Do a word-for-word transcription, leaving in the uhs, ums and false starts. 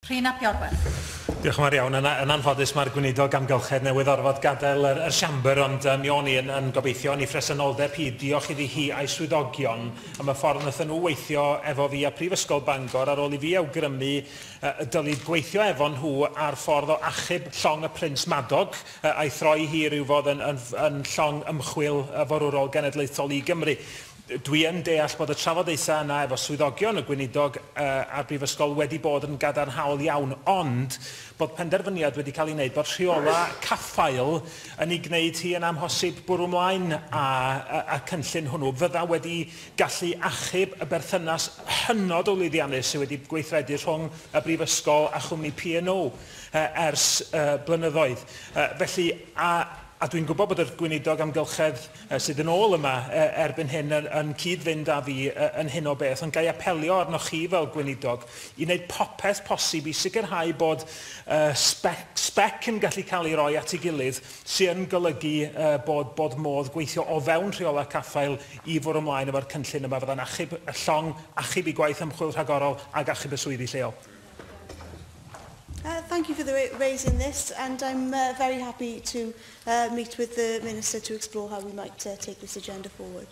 Rhun ap Iorwerth. Diolch yn fawr iawn. Yn, yn anffodus, mae'r gweinidog amgylchedd newydd orfod gadael yr, yr siambr, ond um, mi o'n i yn, yn gobeithio yn ei phresenoldeb hi, diolch iddi hi a'i swyddogion am y ffordd wnaethon nhw weithio efo fi a Prifysgol Bangor ar ôl i fi awgrymu uh, dylid gweithio efo nhw ar ffordd o achub llong y Prince Madog uh, a'i throi hi rhywfodd yn, yn, yn llong ymchwil forwrol genedlaethol i Gymru. Dwi yn deall bod y trafodaethau yna efo swyddogion y gweinidog uh, a'r brifysgol wedi bod yn gadarnhaol iawn, ond bod penderfyniad wedi cael ei wneud bod rheola caffael yn ei gwneud hi yn amhosib bwrw ymlaen a, a, a cynllun hwnnw fydda wedi gallu achub y berthynas hynod o lwyddiannus sydd wedi gweithredu rhwng y brifysgol a chwmni P and O uh, ers uh, blynyddoedd. Uh, felly, a A dwi'n gwybod bod y gweinidog amgylchedd uh, sydd yn ôl yma uh, erbyn hyn yn, yn cyd-fynd â fi uh, yn hyn o beth, ond ga i apelio arnoch chi fel gweinidog i wneud popeth posib i sicrhau bod uh, spec, spec yn gallu cael ei roi at ei gilydd sy'n golygu uh, bod, bod modd gweithio o fewn rheolau caffael i fwrw ymlaen efo'r cynllun yma fydda'n achub y llong, achub ei gwaith ymchwil rhagorol ac achub y swyddi lleol. Uh, thank you for the raising this, and I'm uh, very happy to uh, meet with the Minister to explore how we might uh, take this agenda forward.